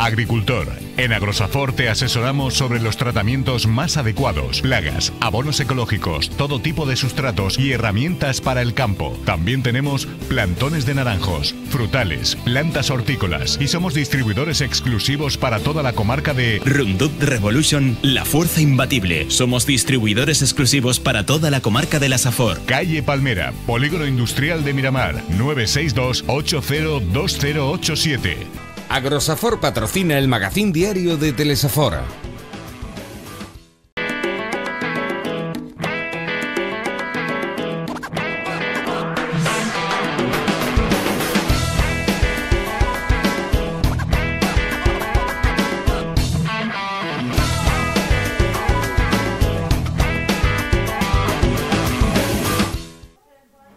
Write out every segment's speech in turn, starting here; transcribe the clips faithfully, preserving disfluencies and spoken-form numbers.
Agricultor. En Agrosafor te asesoramos sobre los tratamientos más adecuados, plagas, abonos ecológicos, todo tipo de sustratos y herramientas para el campo. También tenemos plantones de naranjos, frutales, plantas hortícolas y somos distribuidores exclusivos para toda la comarca de Roundup Revolution, la fuerza imbatible. Somos distribuidores exclusivos para toda la comarca de la Safor. Calle Palmera, Polígono Industrial de Miramar, nueve seis dos, ocho cero dos cero ocho siete. Agrosafor patrocina el magazín diario de Telesafor.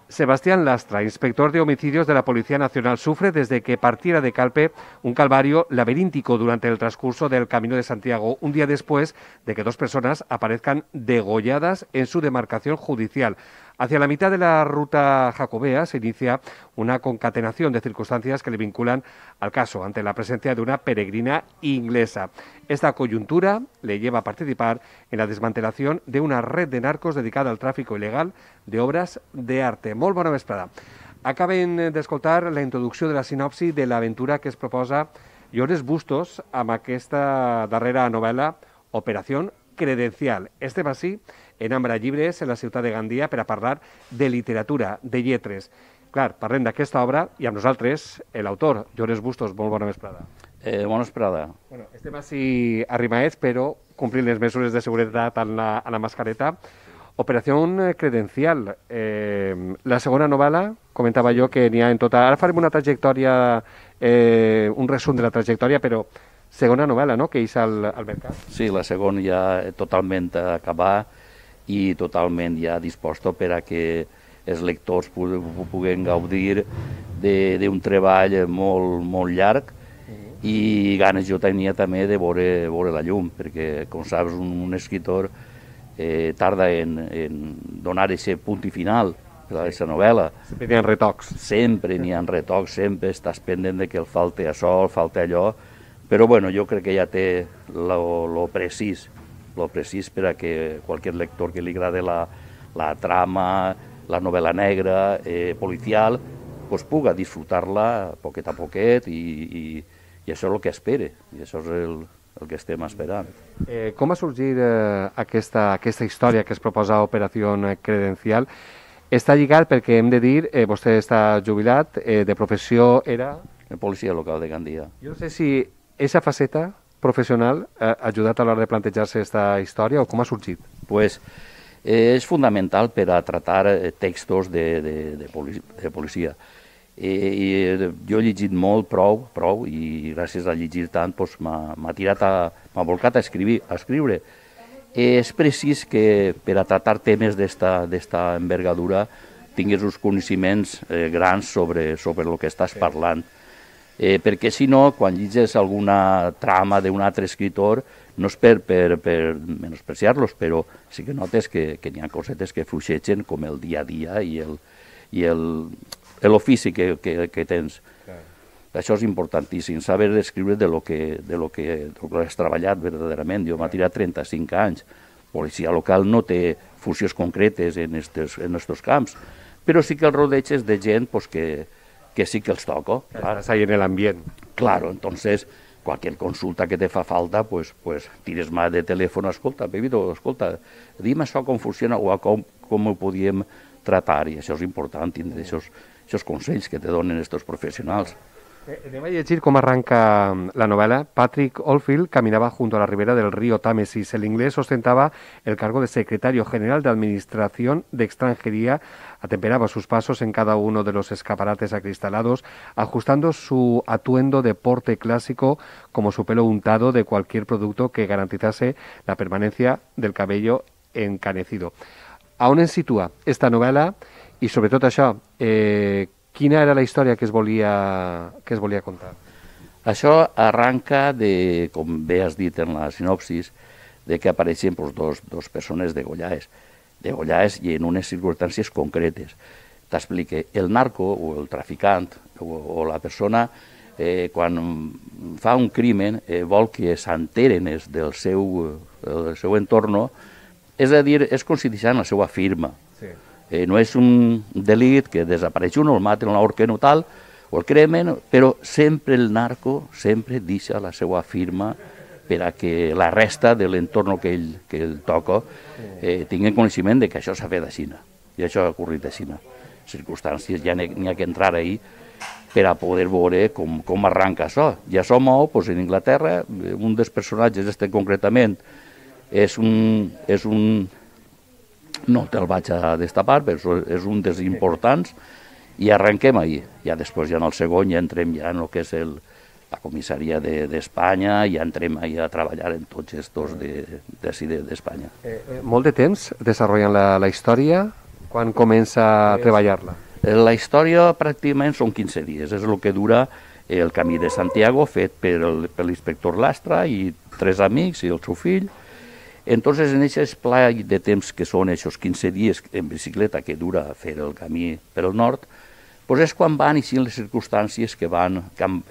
Sebastián Lastra, inspector de homicidios de la Policía Nacional, sufre desde que partiera de Calpe un calvario laberíntico durante el transcurso del Camino de Santiago, un día después de que dos personas aparezcan degolladas en su demarcación judicial. Hacia la mitad de la ruta jacobea se inicia una concatenación de circunstancias que le vinculan al caso ante la presencia de una peregrina inglesa. Esta coyuntura le lleva a participar en la desmantelación de una red de narcos dedicada al tráfico ilegal de obras de arte. Molt bona vesprada. Acaben d'escoltar la introducció de la sinopsi de l'aventura que es proposa Llores Bustos amb aquesta darrera novel·la Operació Credencial. Este va sí en Ambra Llibres, en la ciutat de Gandia, per a parlar de literatura, de lletres. Clar, parlem d'aquesta obra i amb nosaltres l'autor, Llores Bustos. Molt bona vesprada. Eh, bona vesprada. Bueno, estem així arrimaets, però complint les mesures de seguretat en la, en la mascareta. Operació Credencial. Eh, la segona novel·la, comentava jo que n'hi ha en total... Ara farem una trajectòria, eh, un resum de la trajectòria, però segona novel·la, no?, que és al, al mercat. Sí, la segona ja totalment acabada i totalment ja disposta per a que els lectors puguen gaudir d'un treball molt, molt llarg i ganes jo tenia també de veure, veure la llum, perquè, com saps, un, un escriptor eh, tarda en, en donar aquest punt i final per a aquesta novel·la. Sempre n'hi ha retocs. Sempre n'hi ha retocs, sempre estàs pendent de que el falte això, el falte allò, però bueno, jo crec que ja té lo, lo precís, lo precís per a que qualsevol lector que li agrade la, la trama, la novel·la negra, eh, policial, pues puga disfrutar-la poquet a poquet i, i, i això és el que espere, i això és el, el que estem esperant. Eh, com va sorgir eh, aquesta, aquesta història que es proposa Operació Credencial? Està lligat perquè hem de dir, eh, vostè està jubilat, eh, de professió era... Policia local de Gandia. Jo no sé si aquesta faceta professional ha ajudat a l'hora de plantejar-se aquesta història o com ha sorgit? Pues, eh, és fundamental per a tratar textos de, de, de, policia, de policia. Eh, i jo he llegit molt, prou, prou, i gràcies a llegir tant pues, m'ha tirat a... m'ha volcat a, escriure, a escriure. Eh, és precís que per a tratar temes d'esta envergadura tinguis uns coneixements eh, grans sobre, sobre el que estàs parlant. Eh, perquè si no, quan llegis alguna trama d'un altre escritor, no és per, per, per menospreciar-los, però sí que notes que, que n'hi ha cosetes que fluixegen com el dia a dia i el, i el, l'ofici que, que, que tens. Clar. Això és importantíssim, saber escriure de lo que, de lo que, de lo que has treballat verdaderament. Jo m'ha tirat trenta-cinc anys. Policia local no té funcions concretes en estos, en estos camps, però sí que el rodeig és de gent pues, que que sí que els toco. Claro. Estás ahí en el ambiente. Claro, entonces, cualquier consulta que te fa falta, pues, pues tires más de teléfono, escolta, Pepito, escolta, dime això com funciona o com, com ho podíem tratar, i això és important, tindre aquests consells que te donen aquests professionals. Eh, anem a llegir com arranca la novela. Patrick Oldfield caminaba junto a la ribera del río Támesis. El inglés ostentaba el cargo de secretario general de Administración de Extranjería. Atemperaba sus pasos en cada uno de los escaparates acristalados, ajustando su atuendo de porte clásico como su pelo untado de cualquier producto que garantizase la permanencia del cabello encanecido. A on ens situa esta novel·la i, sobretot això, eh, quina era la història que es volia, que es volia contar? Això arranca de, com bé has dit en la sinopsis, de que apareixen pues, dos, dos persones degollades, degollades i en unes circumstàncies concretes. T'explique, el narco o el traficant o, o la persona eh, quan fa un crimen, eh, vol que s'enteren del seu, del seu entorn, és a dir, és com si deixaran la seva firma. Sí. Eh, no és un delit que desapareix un, el maten, l'ahorquen o tal, o el cremen, però sempre el narco sempre deixa la seva firma per a que la resta de l'entorn que ell, que ell toca eh, tingui coneixement de que això s'ha fet a Xina, i això ha ocorrit a Xina. Circumstàncies ja n'hi ha que entrar ahí per a poder veure com, com arranca això. Ja som doncs, en Inglaterra, un dels personatges, este concretament, és un, és un no te'l vaig a destapar, però és un dels importants, i arrenquem ahir. Ja després, ja en el segon, ja entrem ja en el que és el, la comissaria d'Espanya, de, ja entrem ahir a treballar en tots estos d'ací d'Espanya. Eh, eh, molt de temps desenvolupant la, la història? Quan comença a treballar-la? La història pràcticament són quinze dies, és el que dura el Camí de Santiago, fet per l'inspector Lastra i tres amics i el seu fill. Entonces, en aquest esplai de temps que són aquests quinze dies en bicicleta que dura fer el camí per el nord, pues és quan van eixint les circumstàncies que van,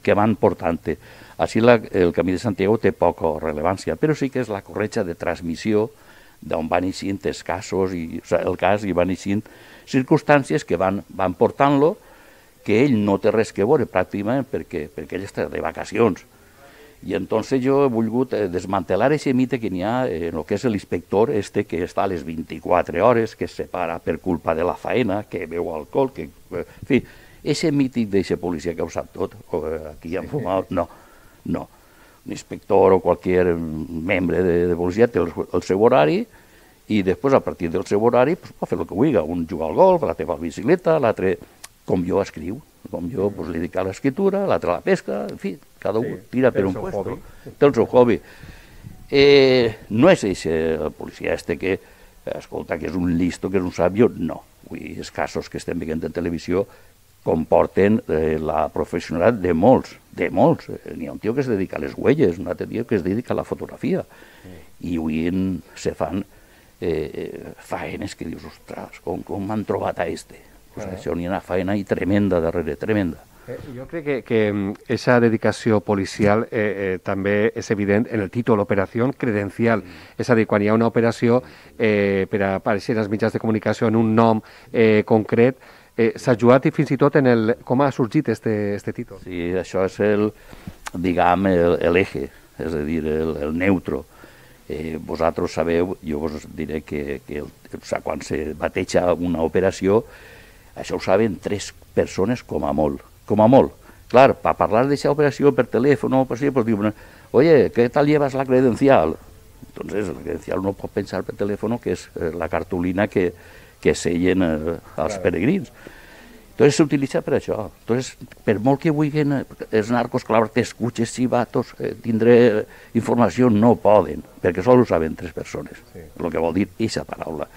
que van portant-te. Així la, el Camí de Santiago té poca rellevància, però sí que és la corretja de transmissió d'on van eixint els casos, i, o sigui, el cas, i van eixint circumstàncies que van, van portant-lo, que ell no té res que veure pràcticament perquè, perquè ell està de vacacions. I entonces jo he volgut desmantelar aquest mite que n'hi ha en el que és l'inspector este que està a les vint-i-quatre hores, que es separa per culpa de la faena, que beu alcohol, que... En fi, aquest mític d'aquesta policia que ho sap tot, aquí han fumat, no, no. Un inspector o qualsevol membre de, de policia té el, el seu horari i després, a partir del seu horari, pues, pot fer el que vulgui. Un juga al golf, l'altre va a la bicicleta, l'altre, com jo, escriu. Com jo, pues, li dedico a l'escriptura, l'altre a la pesca, en fi, cada un tira per un puesto. Té el seu hobby. Eh, no és eixe el policia este que, escolta, que és un listo, que és un sàvio, no. Vull, els casos que estem veient en televisió comporten eh, la professionalitat de molts, de molts. N'hi ha un tio que es dedica a les huelles, un altre tio que es dedica a la fotografia. I avui se fan eh, faenes que dius, ostres, com, com m'han trobat a este? Pues ah. Això n'hi ha una faena i tremenda darrere, tremenda. Eh, jo crec que aquesta dedicació policial eh, eh, també és evident en el títol, operació credencial. Mm. És a dir, quan hi ha una operació eh, per a aparèixer als mitjans de comunicació en un nom eh, concret, eh, s'ha jugat i fins i tot en el... com ha sorgit este, este títol? Sí, això és el, diguem, l'eje, és a dir, el, el neutro. Eh, vosaltres sabeu, jo vos diré que, que el, o sigui, quan se bateja una operació, això ho saben tres persones com a molt, com a molt. Clar, per parlar d'aquesta operació per telèfon, pues, pues diuen, oye, ¿qué tal llevas la credencial? Entonces, la credencial no pot pensar per telèfon que és eh, la cartolina que, que sellen eh, als claro. Peregrins. Entonces s'utilitza per això. Entonces, per molt que vulguin els narcos clavar-te escuches, civatos, eh, tindré informació, no poden, perquè sols ho saben tres persones, sí. El que vol dir aquesta paraula.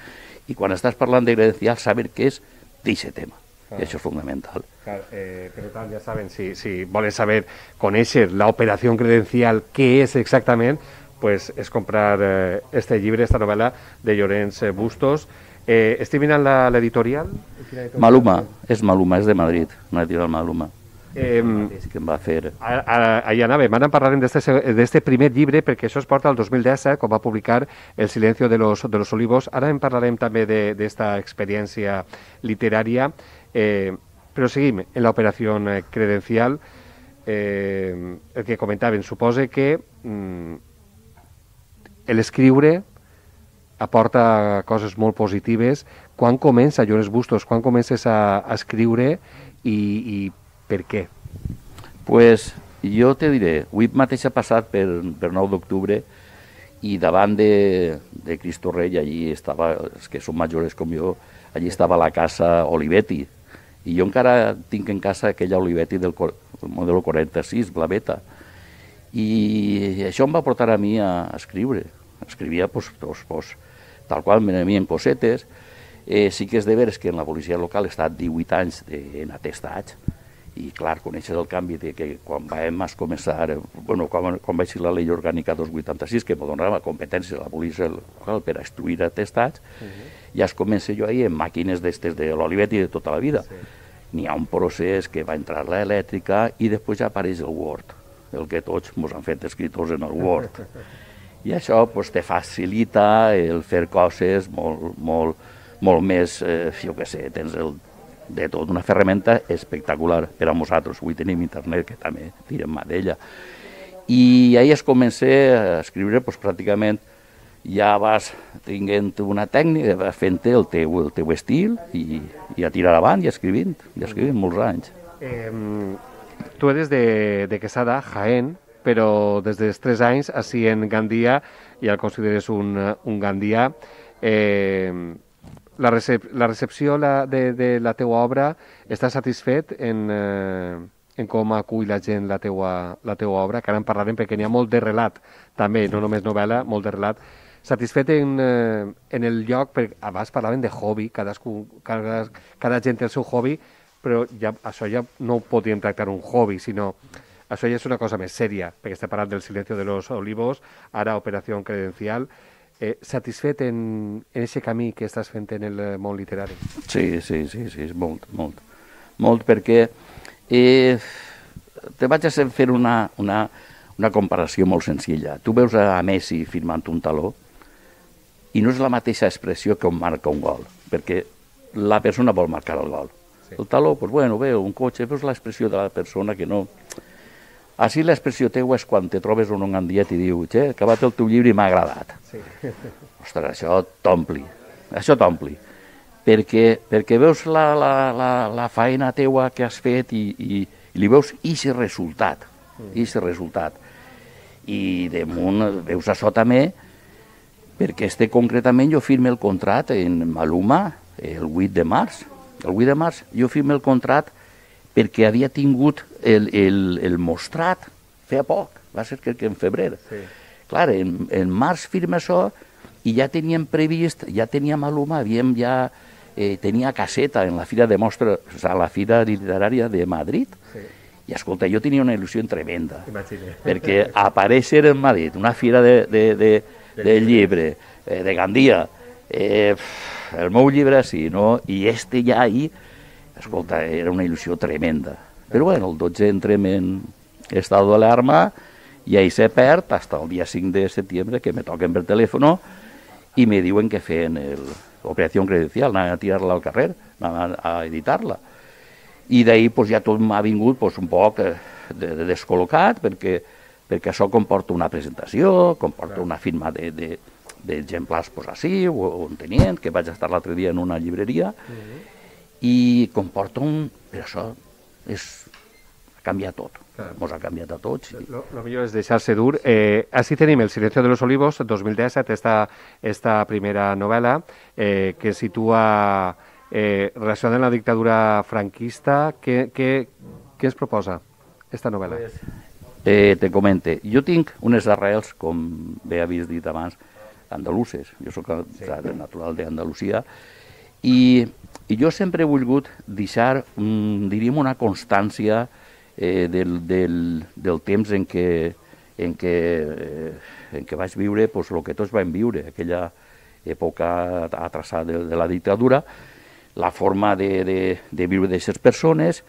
I quan estàs parlant de credencial, saber què és d'aquest tema. Ah. I això és fundamental. Claro, eh, per tant, ja saben, si, si volen saber, conèixer la operació credencial, què és exactament, pues és comprar eh, este llibre, esta novel·la de Llorenç Bustos. Eh, estic mirant l'editorial? Maluma, és Maluma, és de Madrid, una editorial Maluma. Eh, que em va fer... Ahí anàvem, ara en parlarem d'este primer llibre, perquè això es porta al dos mil disset, quan va publicar El silencio de los, de los olivos. Ara en parlarem també d'esta experiència literària, eh, però seguim en l'operació credencial. Eh, el que comentaven, suposa que mm, l'escriure aporta coses molt positives. Quan comença, Llorenç Bustos, quan comences a, a escriure i, i per què? Pues jo te diré, avui mateix ha passat per, per nou d'octubre i davant de, de Cristo Rei, allí estava, els que són majors com jo, allí estava la casa Olivetti, i jo encara tinc en casa aquella Olivetti del model quaranta-sis, blaveta, i això em va portar a mi a escriure. Escrivia pues, pues, pues, tal qual me n'havien cosetes. Eh, sí que és de veres que en la policia local he estat divuit anys de, en atestats, i clar, coneixes el canvi de que quan vam començar, bueno, quan, quan va ser la llei orgànica dos vuitanta-sis, que em donava competències a la policia local per a instruir atestats, uh -huh. ja es comença jo ahir en màquines d'estes de l'Olivetti de tota la vida. Sí. n'hi ha un procés que va entrar l'elèctrica i després ja apareix el Word, el que tots ens han fet escriptors en el Word. I això pues, te facilita el fer coses molt, molt, molt més, eh, jo què sé, tens el, de tot una ferramenta espectacular per a nosaltres. Avui tenim internet, que també tirem mà d'ella. I ahir es comença a escriure pues, pràcticament, ja vas tinguent una tècnica, vas fent el teu, el teu estil i, i a tirar avant i escrivint, i escrivint molts anys. Eh, tu eres de, de Quesada, Jaén, però des dels tres anys, així en Gandia, ja el consideres un, un gandià. Eh, la, recep la recepció la, de, de la teua obra, estàs satisfet en, eh, en com acull la gent la teua, la teua obra? Que ara en parlarem perquè n'hi ha molt de relat, també, no només novel·la, molt de relat. Satisfet en, eh, en el lloc, perquè abans parlaven de hobby, cadascú, cada, cada gent té el seu hobby, però ja, això ja no ho podríem tractar un hobby, sinó això ja és una cosa més sèria, perquè estem parlant del Silencio de los Olivos, ara Operació Credencial. Eh, satisfet en, en aquest camí que estàs fent en el món literari? Sí, sí, sí, sí, molt, molt. Molt, perquè eh, te vaig a fer una, una, una comparació molt senzilla. Tu veus a Messi firmant un taló i no és la mateixa expressió que on marca un gol, perquè la persona vol marcar el gol. Sí. El taló, doncs, bueno, veu un cotxe, veus l'expressió de la persona que no... Així l'expressió teua és quan te trobes un gandià i diu, che, he acabat el teu llibre i m'ha agradat. Sí. Ostres, això t'ompli, això t'ompli. Perquè, perquè veus la, la, la, la feina teua que has fet i, i, i li veus aquest resultat, aquest resultat. I damunt veus això també, perquè este concretament jo firme el contracte en Maluma el vuit de març. El vuit de març jo firme el contracte perquè havia tingut el, el, el mostrat feia poc, va ser crec que en febrer. Sí. Clar, en, en març firma això i ja teníem previst, ja tenia Maluma, havíem ja, eh, tenia caseta en la fira de mostra, o sigui, la fira literària de Madrid. Sí. I escolta, jo tenia una il·lusió tremenda, Imagine. Perquè aparèixer en Madrid, una fira de, de, de de llibre, eh, de Gandia, eh, el meu llibre sí, no? I este ja ahí, escolta, era una il·lusió tremenda. Però bueno, el dotze entrem en estat d'alarma i ahí se perd fins el dia cinc de setembre que me toquen per telèfon i me diuen que feien l'operació credencial, anaven a tirar-la al carrer, anaven a editar-la. I d'ahir pues, ja tot m'ha vingut pues, un poc de, de descol·locat perquè perquè això comporta una presentació, comporta una firma d'exemplars pues, així, o un tenient, que vaig estar l'altre dia en una llibreria, uh-huh. i comporta un... Però això és... ha canviat tot, ens ha canviat a tots. Lo, lo millor és deixar-se dur. Eh, així tenim El Silencio de los Olivos, dos mil disset, esta, esta primera novel·la, eh, que situa eh, relacionada amb la dictadura franquista. Què, què, què es proposa, esta novel·la? Pues, Eh, te comente, jo tinc unes arrels, com bé havies dit abans, andaluses. Jo soc sí. natural d'Andalusia i, i jo sempre he volgut deixar, mm, diríem, una constància eh, del, del, del temps en què, en què, eh, en què vaig viure pues, el que tots vam viure, aquella època atrasada de, de la dictadura, la forma de, de, de viure d'aquestes persones.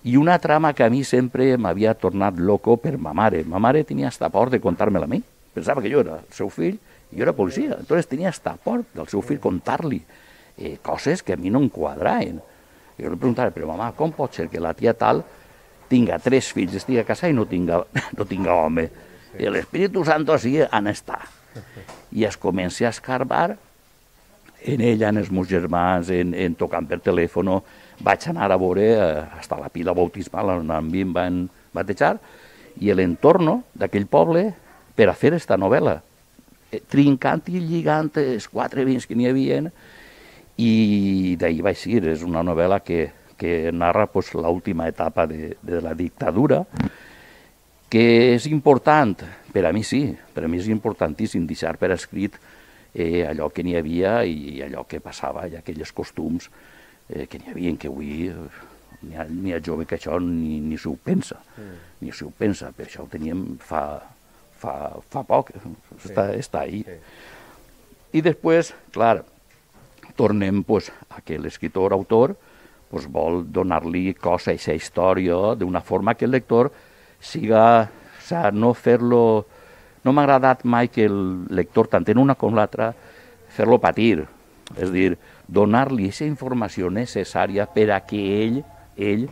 I una trama que a mi sempre m'havia tornat loco per ma mare. Ma mare tenia hasta por de contar-me-la a mi. Pensava que jo era el seu fill i jo era policia. Entonces tenia hasta por del seu fill contar-li eh, coses que a mi no em quadraven. Jo li preguntava, però mama, com pot ser que la tia tal tinga tres fills, estigui a casa i no tinga, no tinga home? I l'Espíritu Santo així han estat. I es comença a escarbar en ella, en els meus germans, en, en tocant per telèfon. Vaig anar a veure fins a la pila bautismal on a mi em van batejar i l'entorn d'aquell poble per a fer aquesta novel·la, trincant i lligant els quatre vins que n'hi havia i d'ahir vaig seguir. És una novel·la que, que narra pues, l'última etapa de, de la dictadura, que és important, per a mi sí, per a mi és importantíssim deixar per escrit eh, allò que n'hi havia i allò que passava i aquells costums Eh, que n'hi havia que avui eh, n'hi ha, ha jove que això ni, ni s'ho pensa, mm. ni s'ho pensa, per això ho teníem fa, fa, fa poc, sí. està, està ahí. Sí. I després, clar, tornem pues, a que l'escriptor-autor pues, vol donar-li cos a aquesta història d'una forma que el lector siga, o sea, no fer-lo... No m'ha agradat mai que el lector, tant en una com l'altra, fer-lo patir. És a dir, donar-li aquesta informació necessària per a que ell, ell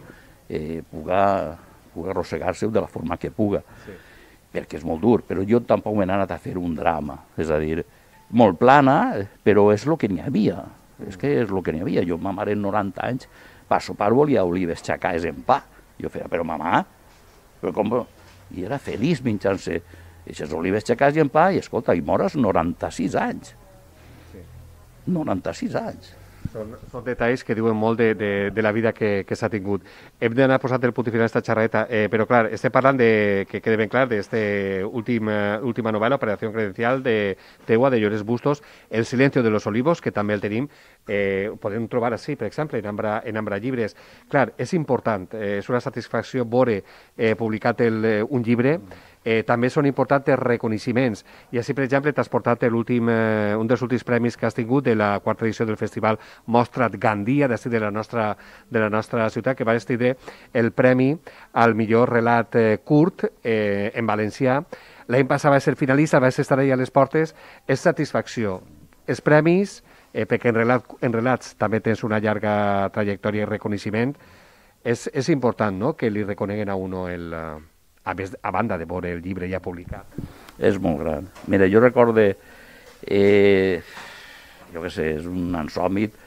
eh, puga, puga arrossegar-se de la forma que puga. Sí. Perquè és molt dur, però jo tampoc m'he anat a fer un drama. És a dir, molt plana, però és el que n'hi havia. És que és el que n'hi havia. Jo, ma mare, en noranta anys, per sopar volia olives xacades en pa. Jo feia, però mamà, però com... I era feliç menjant-se aquestes olives xacades i en pa, i escolta, i mores noranta-sis anys. Sí. noranta-sis anys. Són, són detalls que diuen molt de, de, de la vida que, que s'ha tingut. Hem d'anar posant el punt final a aquesta xerradeta, eh, però clar, estem parlant de, que quede ben clar, d'esta última, última novel·la, Operació Credencial, de teua, de Llorenç Bustos, El silencio de los olivos, que també el tenim, eh, ho podem trobar així, per exemple, en Ambra, en Ambra Llibres. Clar, és important, eh, és una satisfacció veure eh, publicat el, un llibre. Eh, també són importants els reconeixements. I així, per exemple, t'has portat l'últim, eh, un dels últims premis que has tingut de la quarta edició del festival Mostra't Gandia, d'ací de la nostra, de la nostra ciutat, que va tindre el premi al millor relat eh, curt eh, en valencià. L'any passat va ser finalista, va estar allà a les portes. És satisfacció. Els premis, eh, perquè en, relat, en relats també tens una llarga trajectòria i reconeixement, és, és important, no?, que li reconeguen a uno el... Uh, A, més, a banda de veure el llibre ja publicat. És molt gran. Mira, jo recorde, eh, jo què sé, és un ansòmit,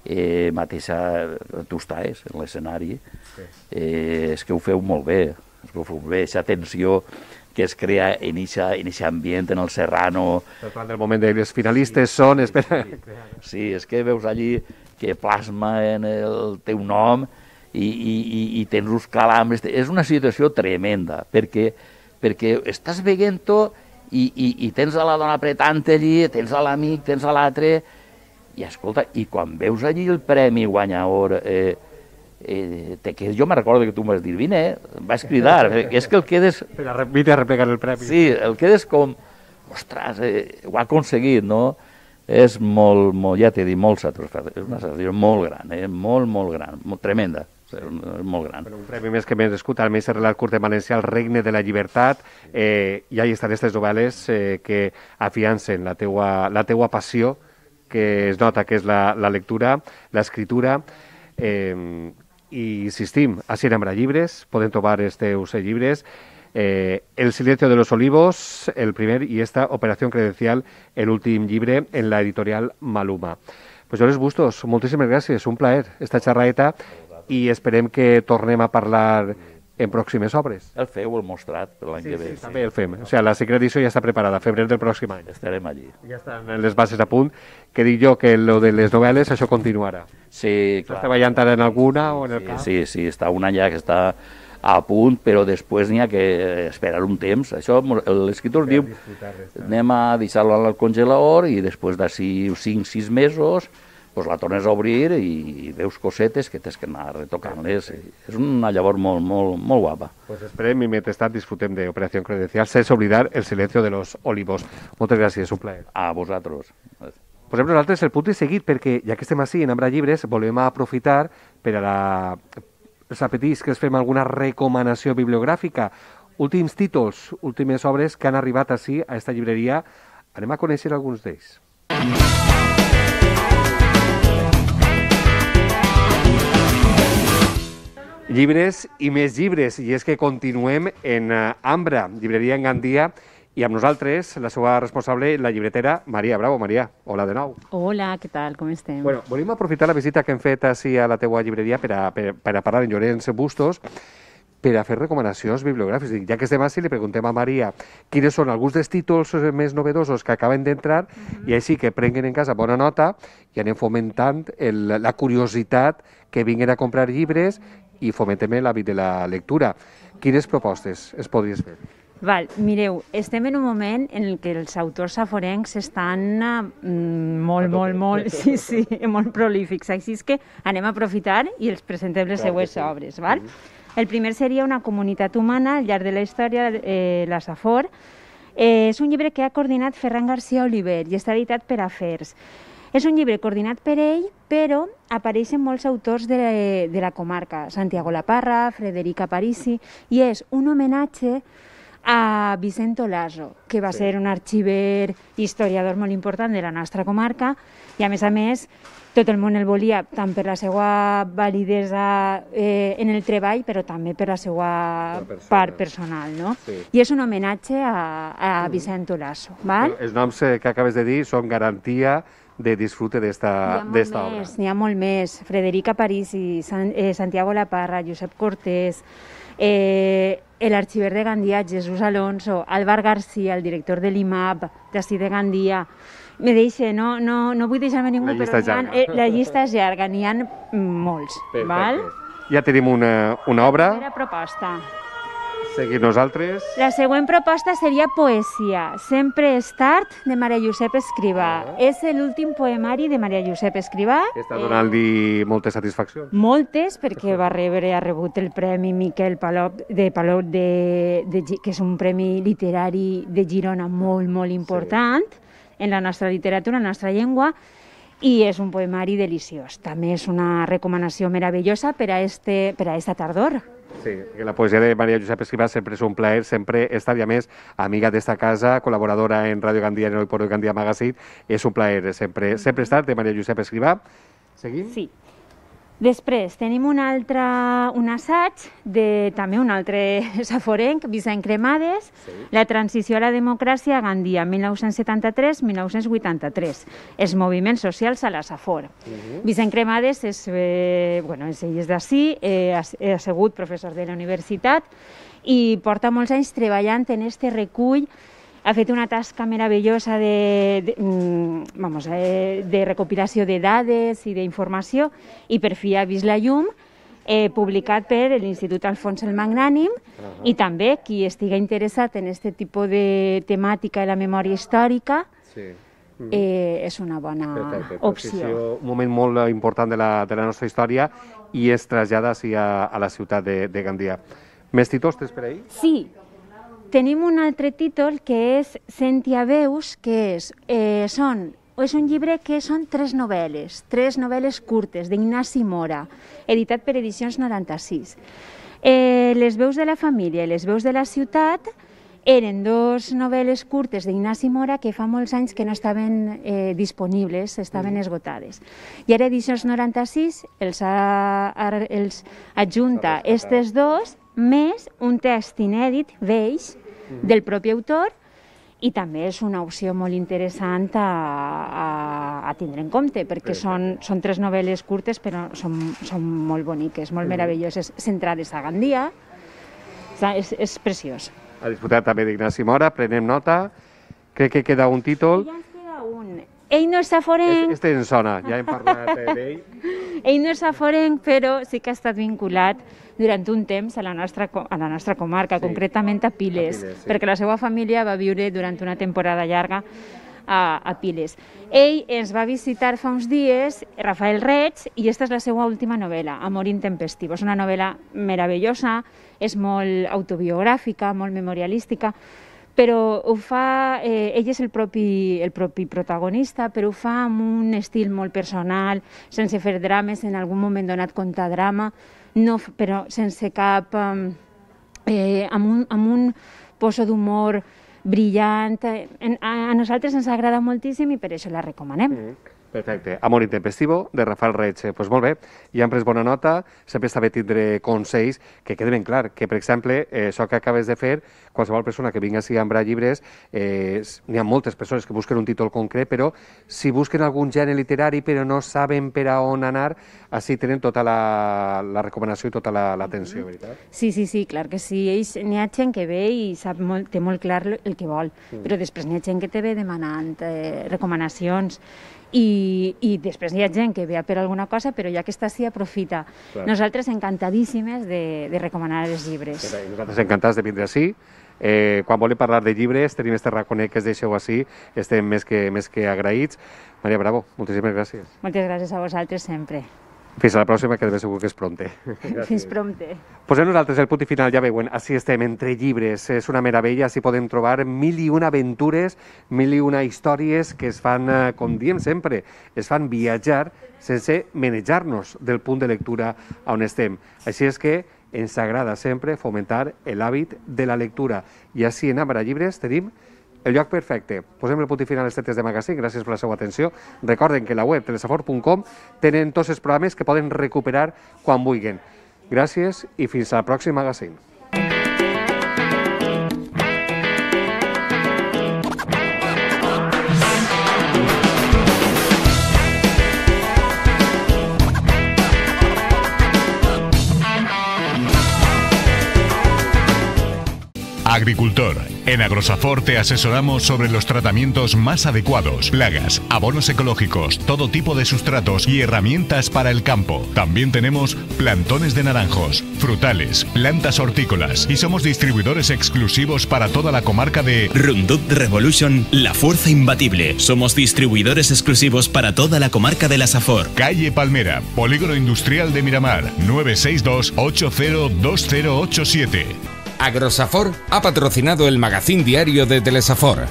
eh, mateixa, tu estàs en l'escenari, sí. eh, és que ho feu molt bé, és que ho feu bé, aquesta tensió que es crea en aquest ambient, en el Serrano. El moment de les finalistes sí, són... Sí, espera. Sí, sí, és que veus allí que plasma en el teu nom, I, i, i tens uns calambres. És una situació tremenda, perquè, perquè estàs veient-ho i, i, i tens a la dona apretant allí, tens a l'amic, tens a l'altre, i escolta, i quan veus allí el premi guanyador, eh, eh, te quedes, jo me recordo que tu m'has dit, vine, eh, vas cridar, és que el quedes... Vine a replegar el premi. Sí, el quedes com, ostres, eh, ho ha aconseguit, no? És molt, molt ja t'he dit, molt satisfactori, és una satisfacció molt gran, eh? molt, molt gran, molt tremenda. És molt gran. Però un premi més que merescut, al més relat curt en valencià, El regne de la llibertat, eh, i ahí estan aquestes novel·les eh, que afiancen la teua, la teua passió, que es nota que és la, la lectura, l'escriptura, eh, i insistim, així en Ambra Llibres, podem trobar els teus llibres, eh, El silencio de los olivos, el primer, i esta Operació Credencial, l'últim llibre, en la editorial Maluma. Pues Llorenç Bustos, moltíssimes gràcies, un plaer esta xerradeta, i esperem que tornem a parlar en pròximes obres. El feu, el mostrat, per l'any sí, que ve. Sí, sí, també el fem. O sigui, la segona edició ja està preparada, febrer del pròxim any. Estarem allí. Ja estan les bases a punt, que dic jo que lo de les novel·les, això continuarà. Sí, clar. Estàs treballant ara en alguna o en el sí, cap? Sí, sí, està un any ja que està a punt, però després n'hi ha que esperar un temps. Això, l'escriptor diu, anem a deixar-lo al congelador i després d'ací cinc sis mesos pues la tornes a obrir i veus cosetes que tens que anar retocant-les. És una llavor molt, molt, molt guapa. Pues esperem i mentrestant disfrutem d'Operació Credencial sense oblidar El silencio de los olivos. Moltes gràcies, un plaer. A vosaltres. Posem nosaltres el punt i seguit, perquè ja que estem així en Ambra Llibres, volem aprofitar per a la... els apetits que es fem alguna recomanació bibliogràfica. Últims títols, últimes obres que han arribat així a esta llibreria. Anem a conèixer alguns d'ells. Llibres i més llibres, i és que continuem en Ambra, llibreria en Gandia, i amb nosaltres, la seva responsable, la llibretera, Maria Bravo. Maria, hola de nou. Hola, què tal, com estem? Bueno, volem aprofitar la visita que hem fet així a la teua llibreria per a, per, per a parlar en Llorenç Bustos, per a fer recomanacions bibliogràfiques. Ja que estem així, li preguntem a Maria quins són alguns dels títols més novedosos que acaben d'entrar, uh-huh. i així que prenguen en casa bona nota i anem fomentant el, la curiositat que vinguin a comprar llibres i fomentem l'hàbit de la lectura. Quines propostes es podries fer? Val, mireu, estem en un moment en el que els autors saforencs estan mm, molt, molt, molt, sí, sí, molt prolífics. Així és que anem a aprofitar i els presentem les seues obres. Val? El primer seria Una comunitat humana al llarg de la història, eh, la Safor. Eh, és un llibre que ha coordinat Ferran García Oliver i està editat per Afers. És un llibre coordinat per ell, però apareixen molts autors de, de la comarca, Santiago Laparra, Frederica Parisi, i és un homenatge a Vicente Laso, que va sí. ser un arxiver i historiador molt important de la nostra comarca, i a més a més tot el món el volia tant per la seva validesa eh, en el treball, però també per la seva persona. part personal, no? Sí. I és un homenatge a, a Vicente Laso, val? Els noms que acabes de dir són garantia de disfrute d'esta obra. N'hi ha molt més. Frederica Parisi, San, eh, Santiago Laparra, Josep Cortés, eh, l'arxiver de Gandia, Jesús Alonso, Álvar García, el director de l'I M A P, d'ací de Gandia. Me deixa, no, no, no vull deixar-me ningú, la però ha, eh, la llista és llarga, n'hi ha molts. Perfecte. Val? Ja tenim una, una obra. La primera proposta. Seguim nosaltres. La següent proposta seria Poesia, Sempre és tard, de Maria Josep Escrivà. Ah. És l'últim poemari de Maria Josep Escrivà. Està donant-li eh, moltes satisfaccions. Moltes, perquè va rebre, ha rebut el Premi Miquel Palop, de Palop, de, de, que és un premi literari de Girona molt, molt important sí. en la nostra literatura, en la nostra llengua, i és un poemari deliciós. També és una recomanació meravellosa per a, este, per a esta tardor. Sí, que la poesia de Maria Josep Escrivà sempre és un plaer, sempre estar, i a més, amiga d'esta casa, col·laboradora en Ràdio Gandia, en Hoy por Hoy Gandia Magazine, és un plaer sempre, sempre estar, de Maria Josep Escrivà. Seguim? Sí. Després tenim un altre, un assaig de també un altre saforenc, Vicent Cremades, sí. La transició a la democràcia a Gandia, mil nou-cents setanta-tres a mil nou-cents vuitanta-tres, els moviments socials a la Safor. Uh -huh. Vicent Cremades és, eh, bueno, és, ell és d'ací, eh, ha, ha sigut professor de la universitat i porta molts anys treballant en este recull. Ha fet una tasca meravellosa de, de, vamos, de recopilació de dades i d'informació i per fi ha vist la llum, eh, publicat per l'Institut Alfons el Magnànim, uh-huh. i també qui estigui interessat en aquest tipus de temàtica de la memòria històrica sí. mm. eh, és una bona Perfecte. opció. Un moment molt important de la, de la nostra història i es trasllada així a, a la ciutat de, de Gandia. Més títols tens per ahí? Sí. Tenim un altre títol que és Sentia veus, que és, eh, són, és un llibre que són tres novel·les, tres novel·les curtes d'Ignasi Mora, editat per Edicions noranta-sis. Eh, les veus de la família i les veus de la ciutat eren dos novel·les curtes d'Ignasi Mora que fa molts anys que no estaven eh, disponibles, estaven esgotades. I ara Edicions noranta-sis els, ha, els adjunta aquestes dos, més un text inèdit, vells, del propi autor, i també és una opció molt interessant a, a, a tindre en compte, perquè són, són tres novel·les curtes, però són, són molt boniques, molt meravelloses, centrades a Gandia. És, és preciós. Ha disputat també d'Ignasi Mora, prenem nota. Crec que queda un títol. Ja ens queda un. Ell no és saforenc. Este en sona, ja hem parlat d'ell. Ell no és saforenc, però sí que ha estat vinculat durant un temps a la nostra, a la nostra comarca, sí. concretament a Piles, a Piles sí. perquè la seva família va viure durant una temporada llarga a, a Piles. Ell ens va visitar fa uns dies, Rafael Reig, i aquesta és la seva última novel·la, Amor intempestivo. És una novel·la meravellosa, és molt autobiogràfica, molt memorialística, però ho fa, eh, ell és el propi, el propi protagonista, però ho fa amb un estil molt personal, sense fer drames, en algun moment donat contar drama, no, però sense cap... Eh, amb, un, amb un poso d'humor brillant. A, a nosaltres ens agrada moltíssim i per això la recomanem. Mm. Perfecte. Amor intempestivo, de Rafael Reig. Doncs pues molt bé, ja hem pres bona nota, sempre està bé tindre consells que quede ben clar, que per exemple, eh, això que acabes de fer, qualsevol persona que vingui a embrar llibres, eh, n'hi ha moltes persones que busquen un títol concret, però si busquen algun gènere literari però no saben per a on anar, així tenen tota la, la recomanació i tota l'atenció, la, veritat? Sí, sí, sí, clar que sí. Ells, n'hi ha gent que ve i sap molt, té molt clar el que vol, mm. però després n'hi ha gent que te ve demanant eh, recomanacions. I, i després hi ha gent que ve per alguna cosa, però ja que està així, aprofita. Clar. Nosaltres encantadíssimes de, de recomanar els llibres. I nosaltres encantats de vindre així. Eh, quan volem parlar de llibres, tenim este raconet que es deixeu així, estem més que, més que agraïts. Maria Bravo, moltíssimes gràcies. Moltes gràcies a vosaltres sempre. Fins a la pròxima, que de ben segur que és prompte. Fins prompte. Posem nosaltres el punt i final, ja veuen, així estem, entre llibres, és una meravella, així podem trobar mil i una aventures, mil i una històries que es fan, com diem sempre, es fan viatjar sense manejar-nos del punt de lectura on estem. Així és que ens agrada sempre fomentar l'hàbit de la lectura. I així en Àmara Llibres tenim el lloc perfecte. Posem el punt i final als tetes de magazín. Gràcies per la seva atenció. Recorden que a la web telesafor punt com tenen tots els programes que poden recuperar quan vulguin. Gràcies i fins al pròxim magazín. Agricultor. En Agrosafor te asesoramos sobre los tratamientos más adecuados, plagas, abonos ecológicos, todo tipo de sustratos y herramientas para el campo. También tenemos plantones de naranjos, frutales, plantas hortícolas y somos distribuidores exclusivos para toda la comarca de Roundup Revolution, la fuerza imbatible. Somos distribuidores exclusivos para toda la comarca de la Safor. Calle Palmera, Polígono Industrial de Miramar, nueve seis dos, ocho cero dos cero ocho siete. Agrosafor ha patrocinado el magazín diario de Telesafor.